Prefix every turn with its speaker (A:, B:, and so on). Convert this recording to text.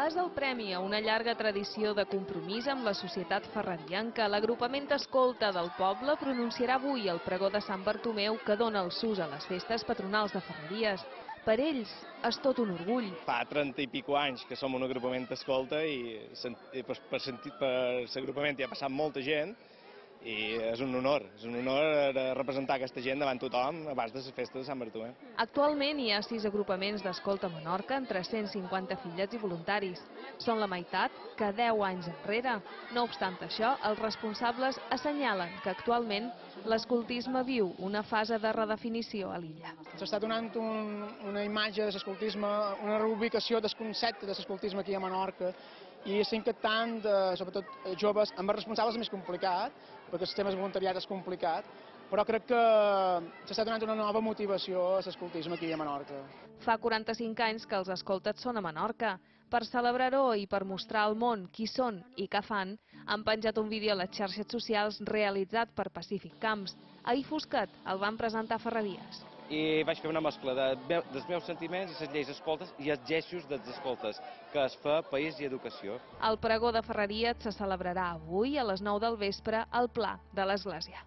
A: És el premi a una llarga tradició de compromís amb la societat ferrarienca. L'agrupament escolta del poble pronunciarà avui el pregó de Sant Bartomeu que dona el sus a les festes patronals de Ferreries. Per ells és tot un orgull.
B: Fa 30 i pico anys que som un agrupament escolta i per l'agrupament hi ha passat molta gent i és un honor representar aquesta gent davant tothom abans de les festes de Sant Bartomeu.
A: Actualment hi ha 6 agrupaments d'escolta a Menorca amb 350 afiliats i voluntaris. Són la meitat que 10 anys enrere. No obstant això, els responsables assenyalen que actualment l'escoltisme viu una fase de redefinició a l'illa.
C: S'està donant una imatge de l'escoltisme, una reubicació del concepte de l'escoltisme aquí a Menorca i estem captant, sobretot joves, amb els responsables és més complicat, perquè el sistema de voluntariat és complicat, però crec que s'està donant una nova motivació a l'escoltisme aquí a Menorca.
A: Fa 45 anys que els escoltes són a Menorca. Per celebrar-ho i per mostrar al món qui són i què fan, han penjat un vídeo a les xarxes socials realitzat per Pacífic Camps. Ahir Fosquet el van presentar a Ferreries.
D: I vaig fer una mescla dels meus sentiments i les lleis escoltes i els gestos dels escoltes, que es fa país i educació.
A: El pregó de Ferreries se celebrarà avui a les 9 del vespre al Pla de l'Església.